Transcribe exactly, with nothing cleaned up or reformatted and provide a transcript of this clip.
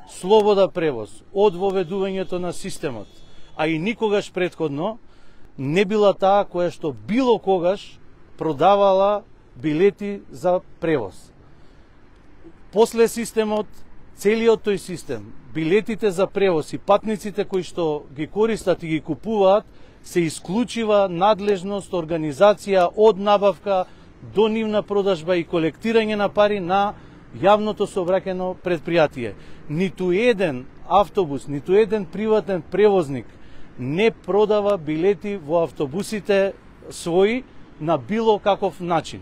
слобода превоз од воведувањето на системот, а и никогаш претходно не била таа која што било когаш продавала билети за превоз. После системот, целиот тој систем, билетите за превоз и патниците кои што ги користат и ги купуваат, се исклучива надлежност, организација од набавка до нивна продажба и колектирање на пари на јавното сообраќајно предпријатие. Ниту еден автобус, ниту еден приватен превозник не продава билети во автобусите своји на било каков начин.